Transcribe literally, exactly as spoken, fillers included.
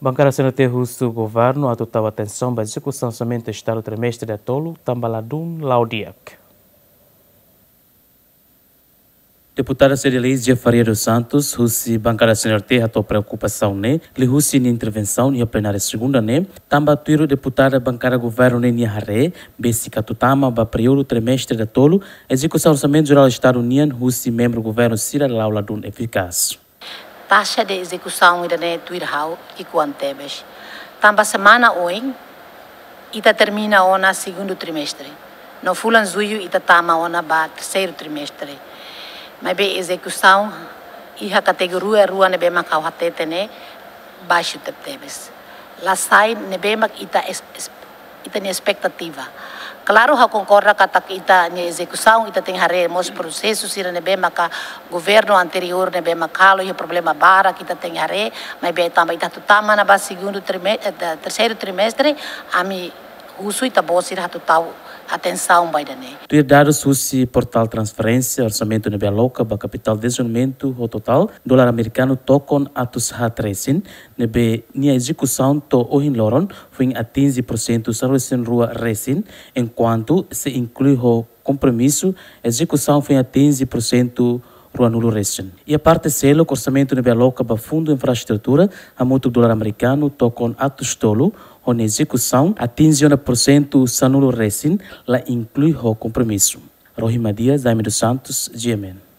Bankada C N R T husu governu atu tau atensaun ba ezekusaun orsamentu estadu trimestre datolu, tanba ladún la'o di'ak. Deputada sosialista Faria dos Santos husi bankada C N R T hato'o preokupasaun ne'e liuhusi nia intervensaun iha plenária segunda ne'e, tanba tuir deputada bankada governu ne'e nia haree, besik atu tama ba períodu trimestre datolu, ezekusaun orsamentu jerál estadu nian husi membru governu sira la'o ladún efikás. Taxa de ezekusaun ida-ne'e tuir ha'u ki'ikoan tebes. Tanba semana oin, ita termina ona segundu trimestre. No fulan Jullu ita tama ona ba terseiru trimestre. Maibé ezekusaun iha kategoria rua ne'ebé mak ha'u hatete ne'e baixu tebetebes. La sai ne'ebé mak ita es-, es-, ita-nia espetativa. Klaru, ha'u konkorda katak ita-nia ezekusaun, ita tenke haree mós prosesu sira ne'ebé maka governu anteriór ne'ebé maka halo iha problema barak, ita tenke haree, maibé tanba ita atu tama ona ba segundu trime-, eh, te-, terseiru trimestre, ami husu ita-boot sira atu tau atensaun ba ida-ne'e. Tuir dadus husi portál transferénsia, orsamentu ne'ebé aloka ba kapitál dezenvolvimentu ho totál dolar amerikanu tokon atus haat resin, ne'ebé nia ezekusaun to'o ohin loron foin atinje porsentu sanulu-resin-rua resin, enkuantu se inklui ho kompromisu, ezekusaun foin atinje porsentu ruanulu resin. Iha parte seluk, orsamentu ne'ebé aloka ba fundu infraestrutura hamutuk dolar amerikanu tokon atus tolu, ho nia ezekusaun atinje ona porsentu sanulu resin, la inklui ho kompromisu. Rohima Dias, Jaime dos Santos, G M N.